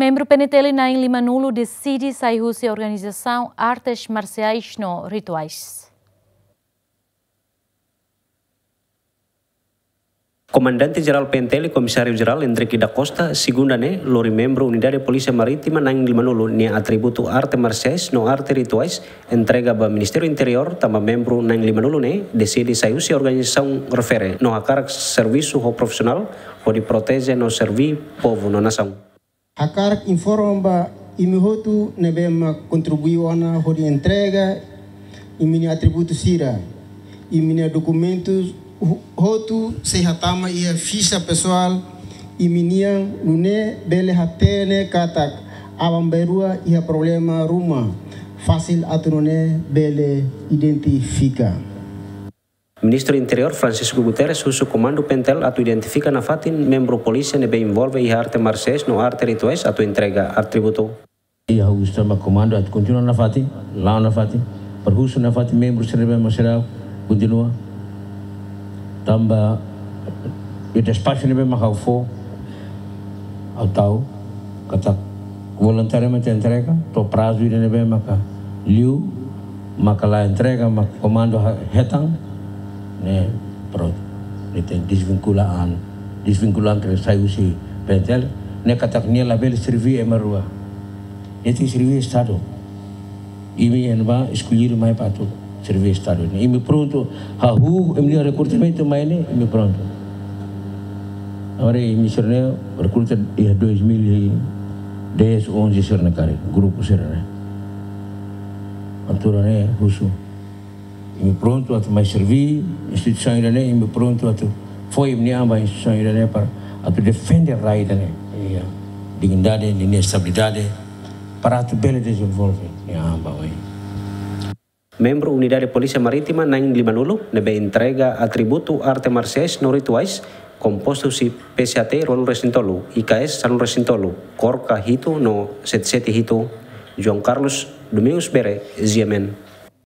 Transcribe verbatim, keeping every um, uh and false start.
Membru P N T L na'in-limanulu deside sai husi organizasaun artes marsiais no rituais. Komandante Jerál P N T L, Komisáriu Jerál Hendrick da Costa, segunda ne'e lori membru Unidade Polísia Marítima na'in-limanulu nia atributu arte marsiais no arte rituais entrega ba Ministériu Interiór, tanba membru na'in-limanulu ne'e deside sai husi organizasaun refere no hakarak servisu ho profisionál hodi proteje no serví povu no nasaun. Hakarak informa ba imi hotu ne'ebé mak kontribui ona hodi entrega imi-nia atributu sira, imi-nia dokumentus ho-, hotu sei hatama iha fixa pesoál imi-nian, nune'e bele hatene katak aban-bainrua iha problema ruma, fasil atu nune'e bele identifika. Ministru Interiór Francisco Guterres husu Komandu P N T L atu identifika nafatin membru polísia ne'ebé envolve iha arte marsiais no arte rituais atu entrega atributu. Iha husu tanba komandu atu kontinua nafatin, la'o nafatin, para husu nafatin membru sira ne'ebé mak seidauk kontinua. Tanba iha despaxu ne'ebé mak ha'u fó, ha'u tau katak voluntariamente entrega, to'o prazu ida ne'ebé maka liu, maka la entrega, maka komandu ha-, hetan, ne'e prontu. Ne'e tenke desvinkula an, desvinkula an ke sai husi P N T L, ne'e katak nia labele serví ema rua. Nia tenke serví Estadu. Imi ne'ebé eskolhidu mai para atu serví Estadu. Imi prontu, hahú, imi-nia rekrutamentu mai ne'e, imi prontu. Agora imi sira-ne'e rekruta iha dois mil e dez, onze sira-ne'e karik, grupu sira-ne'e. Altura ne'e husu. Imi prontu atu mai serví instituisaun ida-ne'e, imi prontu atu fó imi-nia an ba instituisaun ida-ne'e para atu defende rai ida-ne'e. Iha dignidade, nia estabilidade, para atu bele dezenvolve nia an ba oin. Membru Unidade Polísia Marítima na'in-limanulu ne'ebé entrega atributu arte marsiais no rituais, kompostu husi P C H T ruanulu-resin-tolu, I K S sanulu-resin-tolu, KORKA hitu no sete sete hitu, João Carlos Domingos Bere, G M N.